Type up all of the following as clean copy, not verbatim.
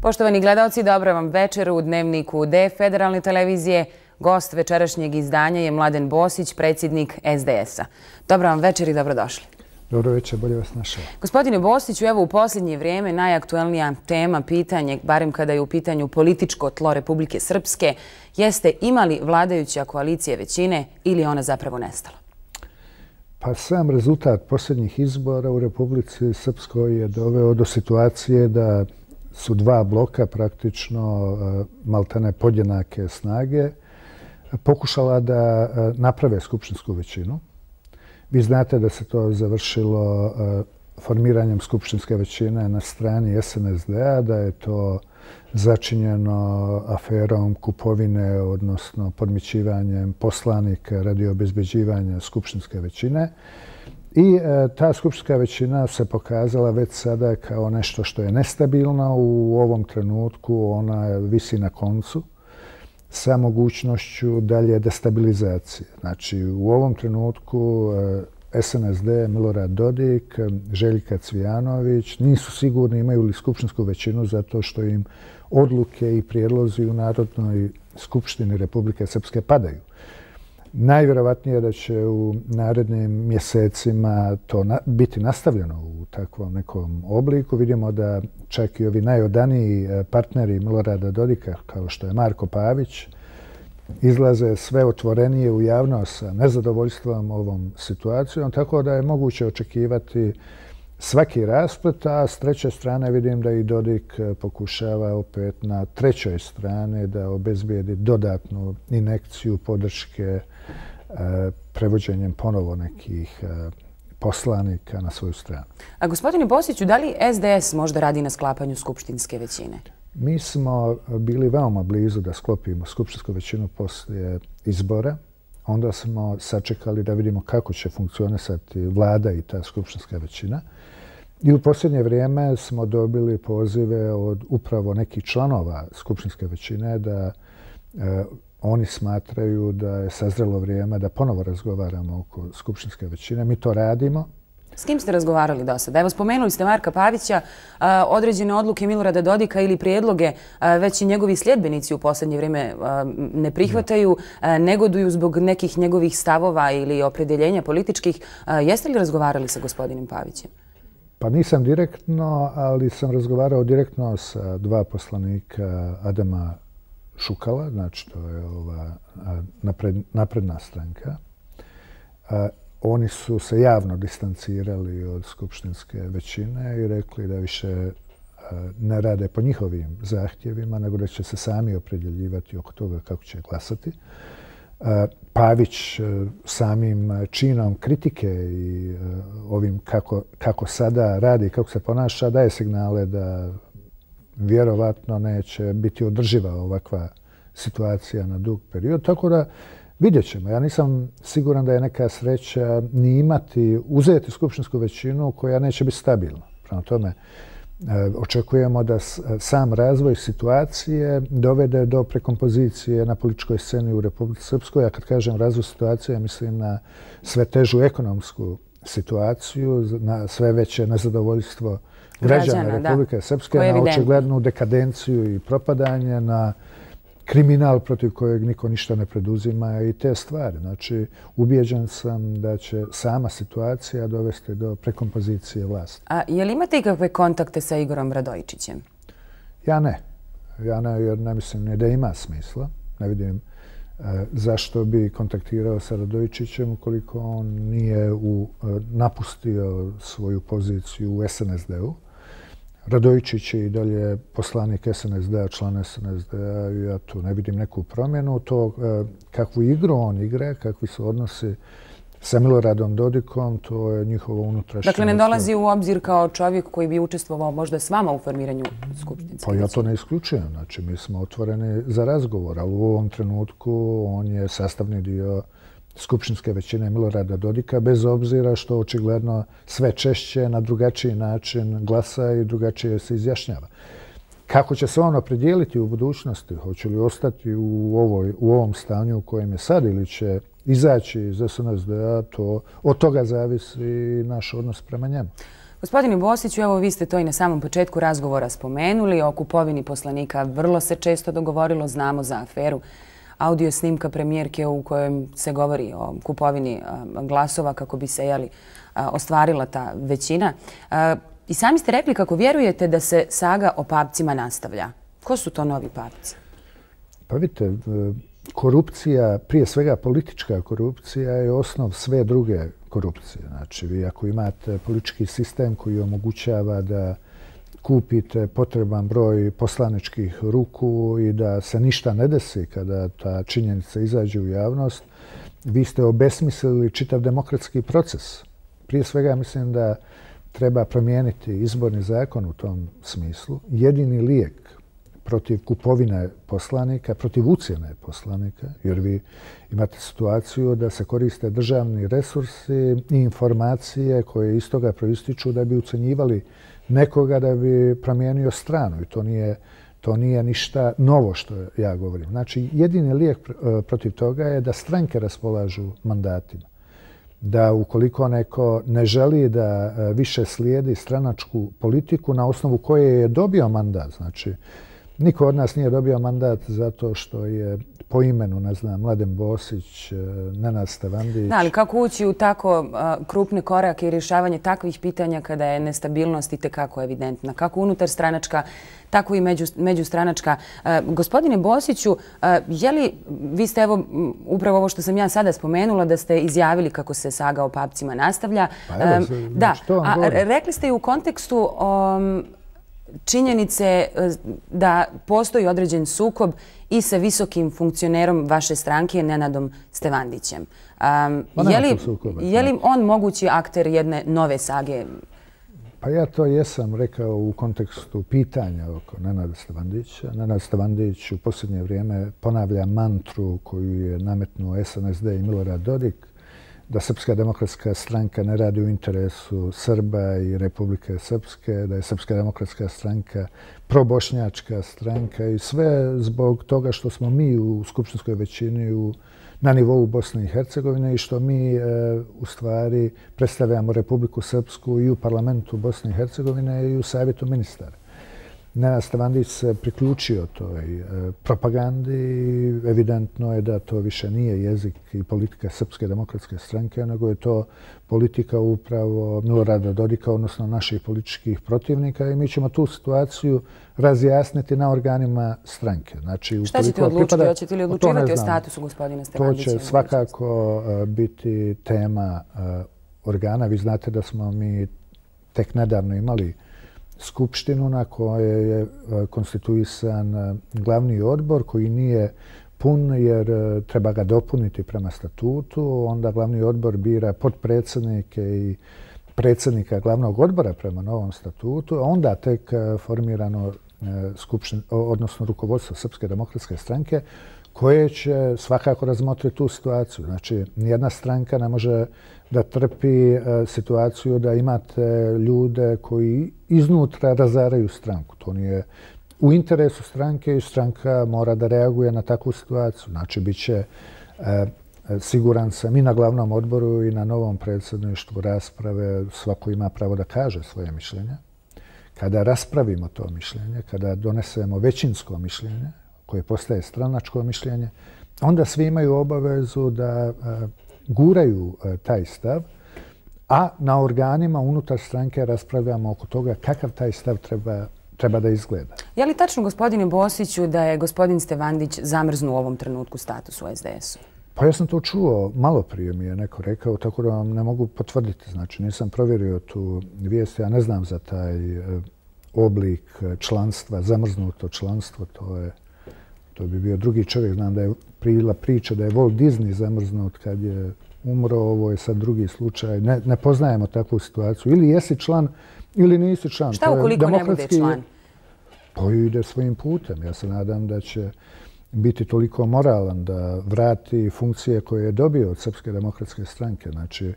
Poštovani gledalci, dobro vam večer u Dnevniku D Federalne televizije. Gost večerašnjeg izdanja je Mladen Bosić, predsjednik SDS-a. Dobro vam večer i dobrodošli. Dobro večer, bolje vas našao. Gospodine Bosiću, evo u posljednje vrijeme najaktuelnija tema, pitanje, barem kada je u pitanju političko tlo Republike Srpske, jeste ima li vladajuća koalicija većine ili ona zapravo nestala? Pa sam rezultat posljednjih izbora u Republici Srpskoj je doveo do situacije da su dva bloka, praktično maltene podjednake snage, pokušala da naprave skupštinsku većinu. Vi znate da se to završilo formiranjem skupštinske većine na strani SNSD-a, da je to začinjeno aferom kupovine, odnosno podmićivanjem poslanika radi obezbeđivanja skupštinske većine. I ta skupštinska većina se pokazala već sada kao nešto što je nestabilno. U ovom trenutku ona visi na koncu sa mogućnošću dalje destabilizacije. Znači, u ovom trenutku SNSD, Milorad Dodik, Željka Cvijanović nisu sigurni imaju li skupštinsku većinu zato što im odluke i prijedlozi u Narodnoj skupštini Republike Srpske padaju. Najvjerovatnije da će u narednim mjesecima to biti nastavljeno u takvom nekom obliku. Vidimo da čak i ovi najodaniji partneri Milorada Dodika, kao što je Marko Pavić, izlaze sve otvorenije u javnost sa nezadovoljstvom ovom situacijom, tako da je moguće očekivati svaki rasplet, a s treće strane vidim da i Dodik pokušava opet na trećoj strani da obezbijedi dodatnu injekciju podrške prevođenjem ponovo nekih poslanika na svoju stranu. A gospodine Bosiću, da li SDS možda radi na sklapanju skupštinske većine? Mi smo bili veoma blizu da sklopimo skupštinsku većinu poslije izbora. Onda smo sačekali da vidimo kako će funkcionisati vlada i ta skupštinska većina. I u posljednje vrijeme smo dobili pozive od upravo nekih članova skupštinske većine da oni smatraju da je sazrelo vrijeme da ponovo razgovaramo oko skupštinske većine. Mi to radimo. S kim ste razgovarali do sada? Evo, spomenuli ste Marka Pavića, određene odluke Milorada Dodika ili prijedloge već i njegovi sljedbenici u posljednje vrijeme ne prihvataju, negoduju zbog nekih njegovih stavova ili opredjeljenja političkih. Jeste li razgovarali sa gospodinom Pavićem? Pa nisam direktno, ali sam razgovarao direktno sa dva poslanika Adama Šukala, znači to je ova napredna stranka. Oni su se javno distancirali od skupštinske većine i rekli da više ne rade po njihovim zahtjevima, nego da će se sami opredjeljivati oko toga kako će glasati. Pavić samim činom kritike i ovim kako sada radi i kako se ponaša daje signale da vjerovatno neće biti održiva ovakva situacija na dug period. Tako da vidjet ćemo. Ja nisam siguran da je neka sreća ni uzeti skupštinsku većinu koja neće biti stabilna. Prema tome, očekujemo da sam razvoj situacije dovede do prekompozicije na političkoj sceni u Republici Srpskoj. A kad kažem razvoj situacije, mislim na sve težu ekonomsku situaciju, na sve veće nezadovoljstvo građana Republike Srpske, na očiglednu dekadenciju i propadanje, na kriminal protiv kojeg niko ništa ne preduzima i te stvari. Znači, ubijeđen sam da će sama situacija dovesti do prekompozicije vlasti. A je li imate ikakve kontakte sa Igorom Radojičićem? Ja ne. Ja ne, jer ne mislim ni da ima smisla. Ne vidim zašto bi kontaktirao sa Radojičićem ukoliko on nije napustio svoju poziciju u SNSD-u. Radojičić je i dalje poslanik SNSD-a, član SNSD-a i ja tu ne vidim neku promjenu. To kakvu igru on igra, kakvi su odnosi sa Miloradom Dodikom, to je njihovo unutrašnje. Dakle, ne dolazi u obzir kao čovjek koji bi učestvovao možda s vama u formiranju skupštinske većine? Pa ja to ne isključujem. Znači, mi smo otvoreni za razgovor, ali u ovom trenutku on je sastavni dio skupštinske većine Milorada Dodika, bez obzira što očigledno sve češće na drugačiji način glasa i drugačije se izjašnjava. Kako će se on opredijeliti u budućnosti? Hoće li ostati u ovom stanju u kojem je sad ili će izaći iz SNSD-a? Od toga zavisi naš odnos prema njemu. Gospodine Bosiću, evo vi ste to i na samom početku razgovora spomenuli. O kupovini poslanika vrlo se često dogovorilo. Znamo za aferu audio snimka premijerke u kojem se govori o kupovini glasova kako bi se ostvarila ta većina. I sami ste rekli kako vjerujete da se saga o papcima nastavlja. Ko su to novi papci? Pa vidite, korupcija, prije svega politička korupcija je osnov sve druge korupcije. Znači, vi ako imate politički sistem koji omogućava da kupite potreban broj poslaničkih ruku i da se ništa ne desi kada ta činjenica izađe u javnost, vi ste obesmislili čitav demokratski proces. Prije svega mislim da treba promijeniti izborni zakon u tom smislu. Jedini lijek protiv kupovine poslanika, protiv ucjene poslanika, jer vi imate situaciju da se koriste državni resursi i informacije koje iz toga proističu da bi ucjenjivali nekoga da bi promijenio stranu. I to nije ništa novo što ja govorim. Znači, jedini lijek protiv toga je da stranke raspolažu mandatima. Da ukoliko neko ne želi da više slijedi stranačku politiku na osnovu koje je dobio mandat, znači niko od nas nije dobio mandat zato što je po imenu, ne znam, Mladen Bosić, Nenad Stevandić. Da, ali kako ući u tako krupne korake i rješavanje takvih pitanja kada je nestabilnost itekako evidentna? Kako unutar stranačka, tako i međustranačka. Gospodine Bosiću, vi ste evo upravo ovo što sam ja sada spomenula da ste izjavili kako se saga o papcima nastavlja. Da, a rekli ste i u kontekstu činjenice da postoji određen sukob i sa visokim funkcionerom vaše stranke, Nenadom Stevandićem. Je li on mogući akter jedne nove sage? Pa ja to jesam rekao u kontekstu pitanja oko Nenada Stevandića. Nenad Stevandić u posljednje vrijeme ponavlja mantru koju je nametnuo SNSD i Milorad Dodik, da Srpska demokratska stranka ne radi u interesu Srba i Republike Srpske, da je Srpska demokratska stranka probošnjačka stranka i sve zbog toga što smo mi u skupštinskoj većini na nivou Bosne i Hercegovine i što mi u stvari predstavljamo Republiku Srpsku i u parlamentu Bosne i Hercegovine i u savjetu ministara. Nenad Stevandić se priključio toj propagandi i evidentno je da to više nije jezik i politika Srpske demokratske stranke, nego je to politika upravo Milorada Dodika, odnosno naših političkih protivnika i mi ćemo tu situaciju razjasniti na organima stranke. Znači, šta ćete odlučiti? Hoćete li odlučivati o statusu gospodina Stevandića? To će svakako biti tema organa. Vi znate da smo mi tek nedavno imali skupštinu na kojoj je konstituisan glavni odbor koji nije pun jer treba ga dopuniti prema statutu. Onda glavni odbor bira potpredsjednike i predsjednika glavnog odbora prema novom statutu, a onda tek formirano odnosno rukovodstvo Srpske demokratske stranke koje će svakako razmotriti tu situaciju. Znači, nijedna stranka ne može da trpi situaciju da imate ljude koji iznutra razaraju stranku. To nije u interesu stranke i stranka mora da reaguje na takvu situaciju. Znači, bit će, siguran sam, i na glavnom odboru i na novom predsjedništvu rasprave. Svako ima pravo da kaže svoje mišljenje. Kada raspravimo to mišljenje, kada donesemo većinsko mišljenje, koje postaje stranačko mišljenje, onda svi imaju obavezu da guraju taj stav, a na organima unutar stranke raspravljamo oko toga kakav taj stav treba da izgleda. Je li tačno, gospodine Bosiću, da je gospodin Stevandić zamrznuo u ovom trenutku status u SDS-u? Pa ja sam to čuo, malo prije mi je neko rekao, tako da vam ne mogu potvrditi. Znači, nisam provjerio tu vijest, ja ne znam za taj oblik članstva, zamrznuto članstvo, to bi bio drugi čovjek. Znam da je bila priča da je Walt Disney zamrznut kad je umro, ovo je sad drugi slučaj. Ne poznajemo takvu situaciju. Ili jesi član ili nisi član. Šta ukoliko ne bude član? Pa ide svojim putem. Ja se nadam da će biti toliko moralan da vrati funkcije koje je dobio od Srpske demokratske stranke. Znači,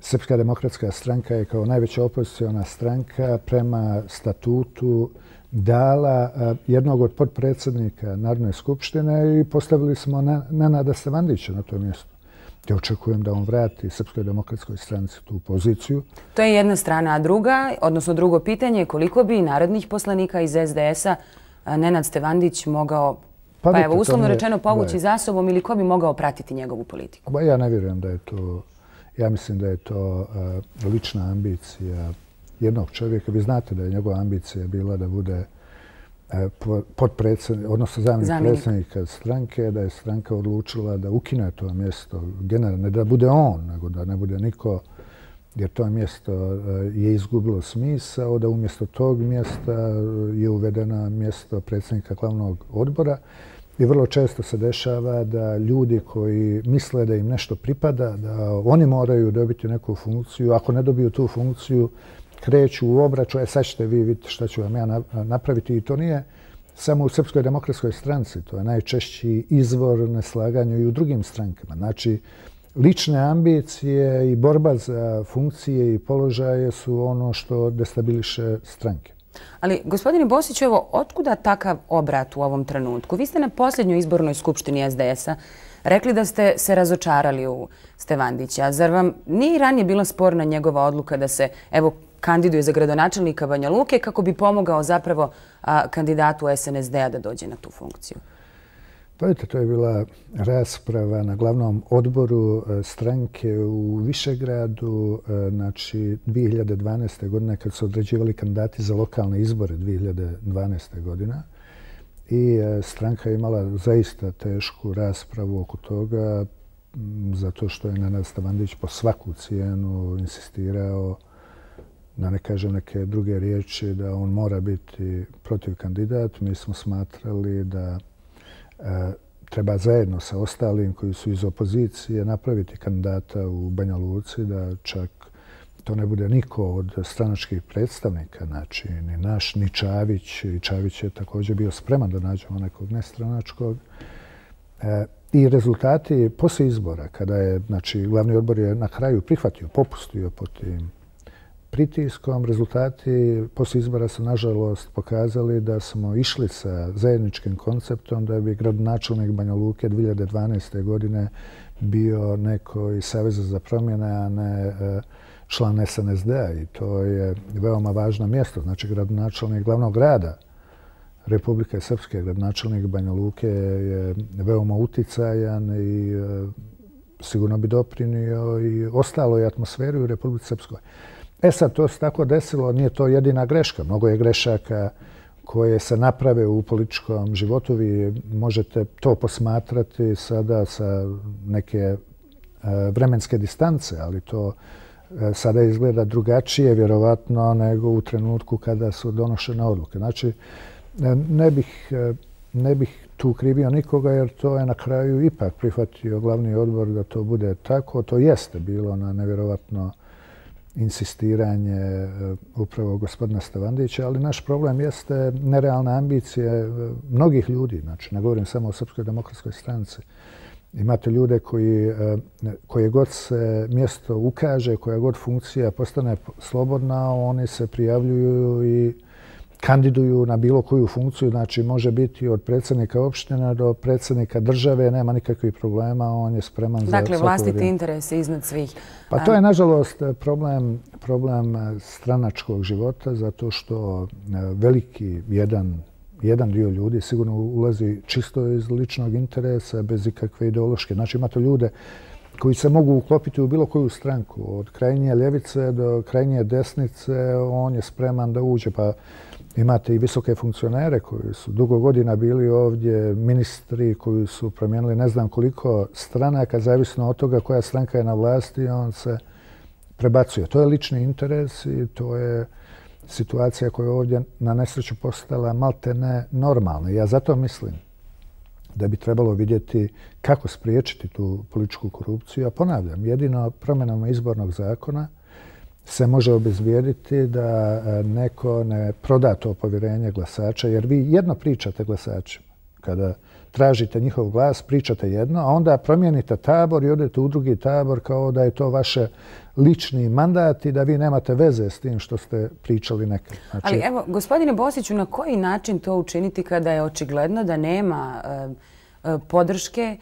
Srpska demokratska stranka je kao najveća opoziciona stranka prema statutu dala jednog od potpredsjednika Narodne skupštine i postavili smo Nenada Stevandića na to mjesto. Ja očekujem da on vrati Srpskoj demokratskoj stranci tu poziciju. To je jedna strana, a druga, odnosno drugo pitanje, koliko bi narodnih poslanika iz SDS-a Nenad Stevandić mogao, pa evo, uslovno rečeno, povući za sobom ili ko bi mogao pratiti njegovu politiku? Ja ne vjerujem da je to, ja mislim da je to lična ambicija jednog čovjeka. Vi znate da je njegova ambicija bila da bude potpredsjednik, odnosno zamjenik predsjednika stranke, da je stranka odlučila da ukine to mjesto, generalno, ne da bude on, nego da ne bude niko, jer to mjesto je izgubilo smisao, da umjesto tog mjesta je uvedeno mjesto predsjednika glavnog odbora. I vrlo često se dešava da ljudi koji misle da im nešto pripada, da oni moraju dobiti neku funkciju, ako ne dobiju tu funkciju, kreću u obračun, sad ćete vi vidjeti šta ću vam ja napraviti. I to nije samo u Srpskoj demokratskoj stranci, to je najčešći izvor neslaganja i u drugim strankama. Znači, lične ambicije i borba za funkcije i položaje su ono što destabiliše stranke. Ali, gospodine Bosiću, evo, otkuda takav obrat u ovom trenutku? Vi ste na posljednjoj izbornoj skupštini SDS-a rekli da ste se razočarali u Stevandića. Zar vam nije ranije bila sporna njegova odluka da se, evo, kandiduje za gradonačelnika Banja Luke kako bi pomogao zapravo kandidatu SNSD-a da dođe na tu funkciju? Pa vidite, to je bila rasprava na glavnom odboru stranke u Višegradu, znači 2012. godine kad su određivali kandidati za lokalne izbore 2012. godina. I stranka je imala zaista tešku raspravu oko toga zato što je Nenad Stevandić po svaku cijenu insistirao, da ne kažem neke druge riječi, da on mora biti protiv kandidat. Mi smo smatrali da treba zajedno sa ostalim koji su iz opozicije napraviti kandidata u Banja Luci, da čak to ne bude niko od stranačkih predstavnika, znači ni naš, ni Čavić. I Čavić je također bio spreman da nađemo nekog nestranačkog. I rezultati poslije izbora, kada je, znači, glavni odbor je na kraju prihvatio, popustio pod tim pritiskom, rezultati poslije izbora su nažalost pokazali da smo išli sa zajedničkim konceptom da bi gradonačelnik Banja Luke 2012. godine bio neko iz Saveza za promjene, a ne član SNSD-a. I to je veoma važno mjesto. Znači, gradonačelnik glavnog grada Republike Srpske, gradonačelnik Banja Luke je veoma uticajan i sigurno bi doprinio i ostaloj atmosferi u Republici Srpskoj. Sad, to se tako desilo, nije to jedina greška. Mnogo je grešaka koje se naprave u političkom životu. Vi možete to posmatrati sada sa neke vremenske distance, ali to sada izgleda drugačije, vjerovatno, nego u trenutku kada su donošene odluke. Znači, ne bih tu krivio nikoga, jer to je na kraju ipak prihvatio glavni odbor da to bude tako. To jeste bilo na nevjerovatno insistiranje upravo gospodina Stevandića, ali naš problem jeste nerealne ambicije mnogih ljudi. Znači, ne govorim samo o Srpskoj demokratskoj stranci. Imate ljude koje god se mjesto ukaže, koja god funkcija postane slobodna, oni se prijavljuju i kandiduju na bilo koju funkciju. Znači, može biti od predsjednika opštine do predsjednika države, nema nikakvih problema, on je spreman za Dakle, vlastiti interes iznad svih. Pa to je, nažalost, problem stranačkog života, zato što veliki jedan dio ljudi sigurno ulazi čisto iz ličnog interesa, bez ikakve ideološke. Znači, imate ljude koji se mogu uklopiti u bilo koju stranku. Od krajnje ljevice do krajnje desnice on je spreman da uđe. Pa imate i visoke funkcionere koji su dugo godina bili ovdje, ministri koji su promijenili ne znam koliko stranaka, zavisno od toga koja stranka je na vlasti, on se prebacuje. To je lični interes i to je situacija koja je ovdje na nesreću postala maltene normalna. Ja zato mislim da bi trebalo vidjeti kako spriječiti tu političku korupciju. A ponavljam, jedino promjenama izbornog zakona se može obezbijediti da neko ne proda to povjerenje glasača, jer vi jedno pričate glasačima. Kada tražite njihov glas, pričate jedno, a onda promijenite tabor i odete u drugi tabor kao da je to vaše lični mandat i da vi nemate veze s tim što ste pričali nekad. Znači, ali evo, gospodine Bosiću, na koji način to učiniti kada je očigledno da nema podrške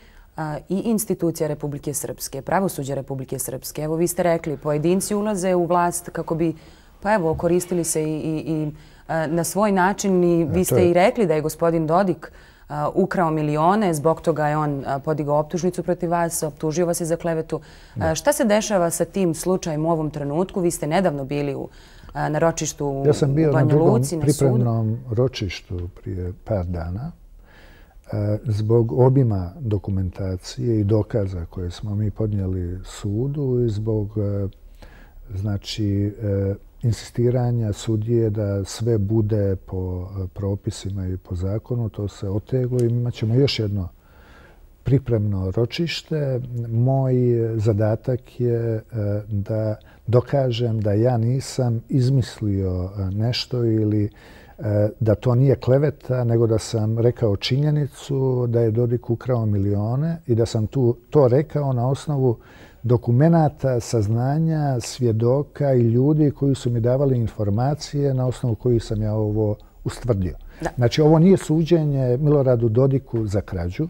i institucija Republike Srpske, pravosuđa Republike Srpske. Evo, vi ste rekli, pojedinci ulaze u vlast kako bi, pa evo, koristili se i na svoj način i vi ste i rekli da je gospodin Dodik ukrao milione, zbog toga je on podigao optužnicu protiv vas, optužio vas je za klevetu. Šta se dešava sa tim slučajem u ovom trenutku? Vi ste nedavno bili na ročištu u Banja Luci, na sudu. Ja sam bio na drugom pripremnom ročištu prije par dana. Zbog obima dokumentacije i dokaza koje smo mi podnijeli sudu i zbog insistiranja sudije da sve bude po propisima i po zakonu, to se oteglo i imat ćemo još jedno pripremno ročište. Moj zadatak je da dokažem da ja nisam izmislio nešto ili da to nije kleveta, nego da sam rekao činjenicu da je Dodik ukrao milione i da sam to rekao na osnovu dokumenata, saznanja, svjedoka i ljudi koji su mi davali informacije na osnovu kojih sam ja ovo ustvrdio. Znači, ovo nije suđenje Miloradu Dodiku za krađu.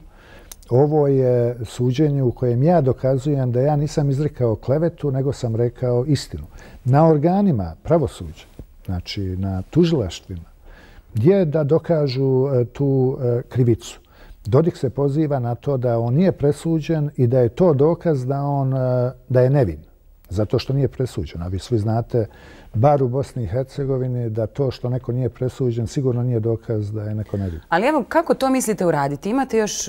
Ovo je suđenje u kojem ja dokazujem da ja nisam izrekao klevetu, nego sam rekao istinu. Na organima pravosuđa, znači na tužilaštvima, gdje da dokažu tu krivicu. Dodik se poziva na to da on nije presuđen i da je to dokaz da je nevin, zato što nije presuđen. A vi svi znate, bar u Bosni i Hercegovini, da to što neko nije presuđen sigurno nije dokaz da je neko nevin. Ali evo, kako to mislite uraditi? Imate još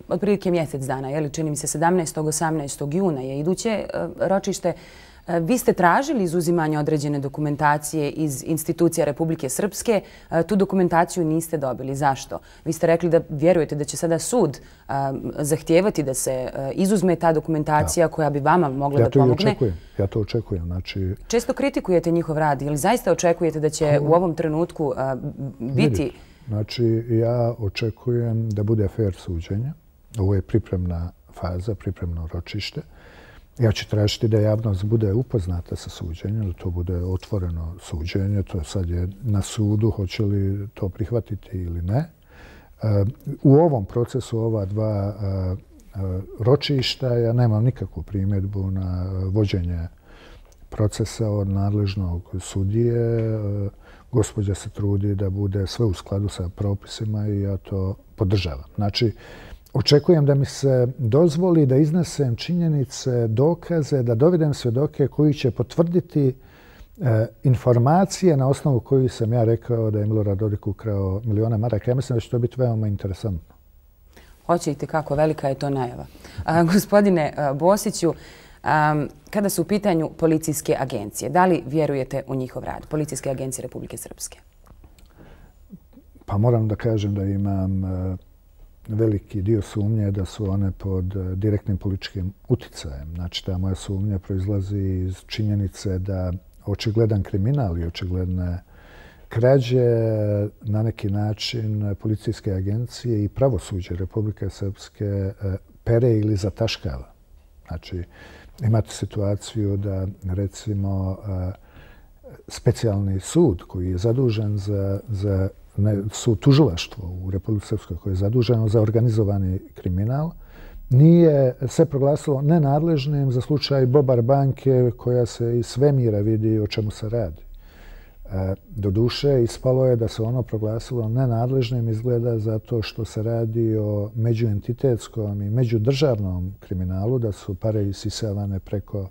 otprilike mjesec dana, čini mi se 17. 18. juna je iduće ročište. Vi ste tražili izuzimanje određene dokumentacije iz institucija Republike Srpske. Tu dokumentaciju niste dobili. Zašto? Vi ste rekli da vjerujete da će sada sud zahtijevati da se izuzme ta dokumentacija koja bi vama mogla da pomogne. Ja to očekujem. Često kritikujete njihov rad. Ili zaista očekujete da će u ovom trenutku biti... Znači, ja očekujem da bude fair suđenje. Ovo je pripremna faza, pripremno ročište. Ja ću tražiti da javnost bude upoznata sa suđenjem, da to bude otvoreno suđenje. To sad je na sudu, hoće li to prihvatiti ili ne. U ovom procesu ova dva ročišta ja nemam nikakvu primjedbu na vođenje procesa od nadležnog sudije. Gospođa se trudi da bude sve u skladu sa propisima i ja to podržavam. Znači, očekujem da mi se dozvoli da iznesem činjenice, dokaze, da dovedem svjedoke koji će potvrditi informacije na osnovu kojih sam ja rekao da je Milorad Dodik ukrao milione maraka. Ja mislim da će to biti veoma interesantno. Hoćete kako, velika je to najava. Gospodine Bosiću, kada su u pitanju policijske agencije, da li vjerujete u njihov rad, policijske agencije Republike Srpske? Pa moram da kažem da imam veliki dio sumnje da su one pod direktnim političkim uticajem. Znači, ta moja sumnja proizlazi iz činjenice da očigledan kriminal i očigledne krađe na neki način policijske agencije i pravosuđe Republike Srpske pere ili zataškava. Znači, imate situaciju da, recimo, specijalni sud koji je zadužen za sud tužilaštvo u Republici Srpskoj koje je zaduženo za organizovani kriminal, nije se proglasilo nenadležnim za slučaj Bobar banke koja se iz svemira vidi o čemu se radi. Doduše, ispalo je da se ono proglasilo nenadležnim izgleda zato što se radi o međuentitetskom i međudržavnom kriminalu, da su pare isisavane preko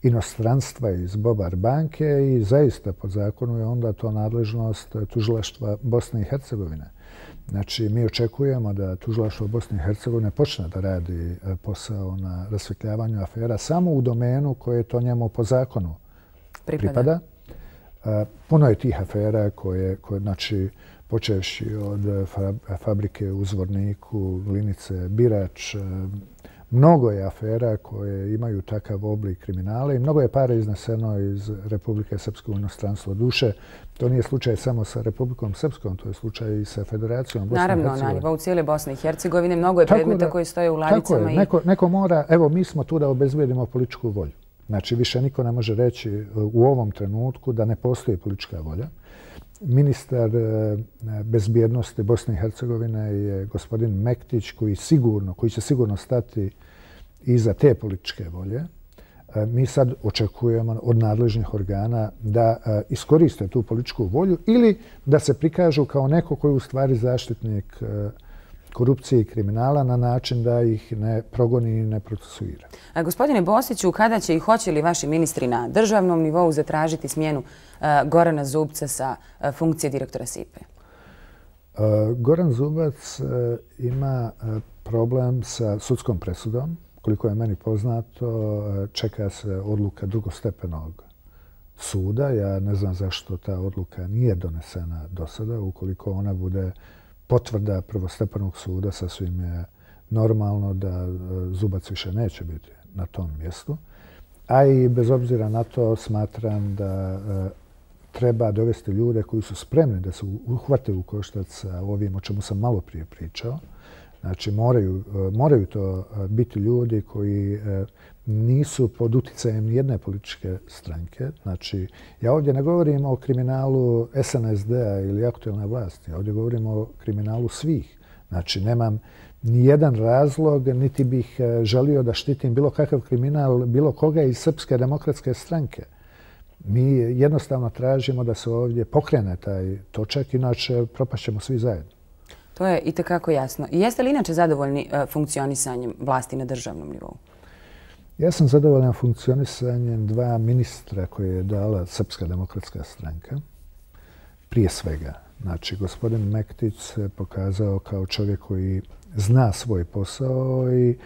inostranstva iz Bobar banke i zaista po zakonu je onda to nadležnost tužilaštva Bosne i Hercegovine. Znači, mi očekujemo da tužilaštvo Bosne i Hercegovine počne da radi posao na rasvetljavanju afera samo u domenu koje to njemu po zakonu pripada. Puno je tih afera koje znači, počevši od fabrike u Zvorniku, Glinice, Birač, mnogo je afera koje imaju takav oblik kriminala i mnogo je para izneseno iz Republike Srpske u inostranstvo. Duše, to nije slučaj samo sa Republikom Srpskom, to je slučaj i sa Federacijom Bosne i Hercegovine. Naravno, na nivou cijele Bosne i Hercegovine mnogo je predmeta koji stoje u ladicama. Tako je, neko mora, evo mi smo tu da obezbedimo političku volju. Znači, više niko ne može reći u ovom trenutku da ne postoji politička volja. Ministar bezbjednosti Bosne i Hercegovine je gospodin Mektić koji će sigurno stati iza te političke volje. Mi sad očekujemo od nadležnih organa da iskoriste tu političku volju ili da se prikažu kao neko koji je u stvari zaštitnik korupcije i kriminala na način da ih ne progoni i ne procesuira. Gospodine Bosiću, kada će i hoće li vaši ministri na državnom nivou zatražiti smjenu Gorana Zubca sa funkcije direktora SIPA? Goran Zubac ima problem sa sudskom presudom. Koliko je meni poznato, čeka se odluka drugostepenog suda. Ja ne znam zašto ta odluka nije donesena do sada. Ukoliko ona bude potvrda prvostepenog suda, sasvim je normalno da Zubac više neće biti na tom mjestu. A i bez obzira na to smatram da treba dovesti ljude koji su spremni da se uhvate u koštac sa ovim o čemu sam malo prije pričao. Znači, moraju to biti ljudi koji nisu pod uticajem nijedne političke stranke. Znači, ja ovdje ne govorim o kriminalu SNSD-a ili aktualne vlasti. Ja ovdje govorim o kriminalu svih. Znači, nemam nijedan razlog, niti bih želio da štitim bilo kakav kriminal, bilo koga iz Srpske demokratske stranke. Mi jednostavno tražimo da se ovdje pokrene taj točak, inače propašćemo svi zajedno. To je itekako jasno. I jeste li inače zadovoljni funkcionisanjem vlasti na državnom nivou? Ja sam zadovoljan funkcionisanjem dva ministra koje je dala Srpska demokratska stranka. Prije svega, znači, gospodin Mektić se pokazao kao čovjek koji zna svoj posao i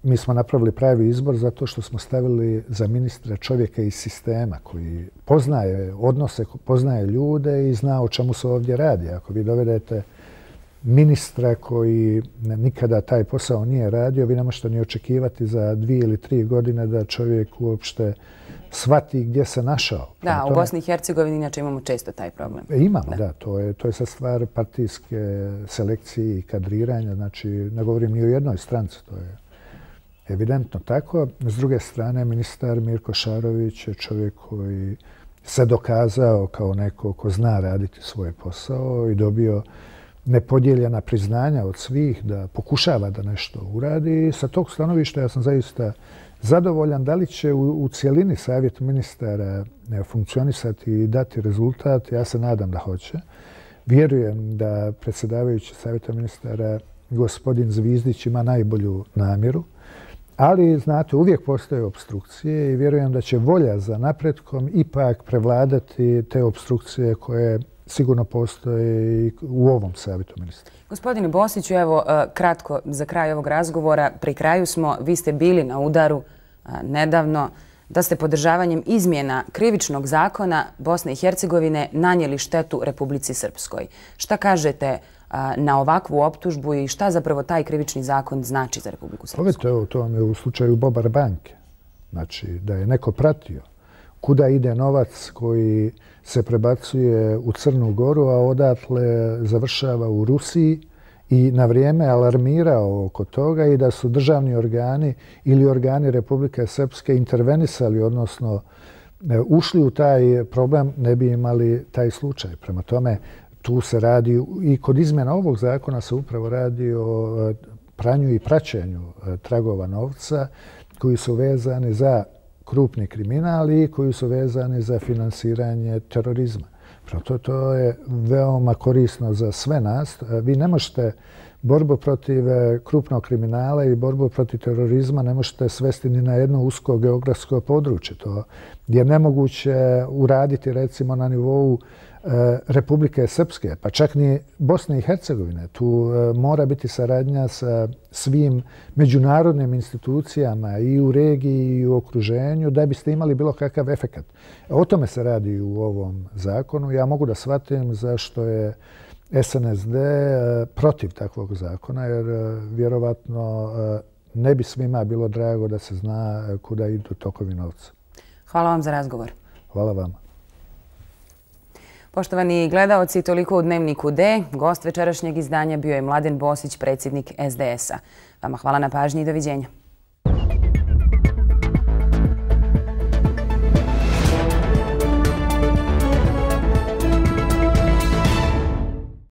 mi smo napravili pravi izbor zato što smo stavili za ministra čovjeka iz sistema koji poznaje odnose, poznaje ljude i zna o čemu se ovdje radi. Ako vi dovedete ministra koji nikada taj posao nije radio, vi ne možete ni očekivati za 2 ili 3 godine da čovjek uopšte shvati gdje se našao. Da, u Bosni i Hercegovini inače imamo često taj problem. Imamo, da. To je sad stvar partijske selekcije i kadriranja. Znači, ne govorim ni o jednoj stranci, to je evidentno tako. S druge strane, ministar Mirko Šarović je čovjek koji se dokazao kao neko ko zna raditi svoj posao i dobio nepodijeljena priznanja od svih da pokušava da nešto uradi. Sa tog stanovišta ja sam zaista zadovoljan. Da li će u cijelini savjet ministara funkcionisati i dati rezultat? Ja se nadam da hoće. Vjerujem da predsjedavajući savjeta ministara gospodin Zvizdić ima najbolju namjeru. Ali, znate, uvijek postoje opstrukcije i vjerujem da će volja za napretkom ipak prevladati te opstrukcije koje sigurno postoje i u ovom savjetu ministra. Gospodine Bosiću, evo kratko za kraj ovog razgovora. Pri kraju smo, vi ste bili na udaru nedavno da ste podržavanjem izmjena krivičnog zakona Bosne i Hercegovine nanijeli štetu Republici Srpskoj. Šta kažete na ovakvu optužbu i šta zapravo taj krivični zakon znači za Republiku Srpsku? Evo, to vam je u slučaju Bobar banke. Znači, da je neko pratio kuda ide novac koji se prebacuje u Crnu Goru, a odatle završava u Rusiji i na vrijeme alarmirao oko toga i da su državni organi ili organi Republike Srpske intervenisali, odnosno ušli u taj problem, ne bi imali taj slučaj. Prema tome, tu se radi i kod izmjena ovog zakona se upravo radi o pranju i praćenju tragova novca koji su vezani za krupni kriminal i koji su vezani za finansiranje terorizma. To je veoma korisno za sve nas. Vi ne možete borbu protiv krupnog kriminala i borbu protiv terorizma ne možete svesti ni na jedno usko geografsko područje. To je nemoguće uraditi recimo na nivou Republike Srpske, pa čak ni Bosne i Hercegovine. Tu mora biti saradnja sa svim međunarodnim institucijama i u regiji i u okruženju da biste imali bilo kakav efekat. O tome se radi u ovom zakonu. Ja mogu da shvatim zašto je SNSD protiv takvog zakona, jer vjerovatno ne bi svima bilo drago da se zna kuda idu tokovi novca. Hvala vam za razgovor. Hvala vama. Poštovani gledaoci, toliko u Dnevniku D. Gost večerašnjeg izdanja bio je Mladen Bosić, predsjednik SDS-a. Vama hvala na pažnji i doviđenja.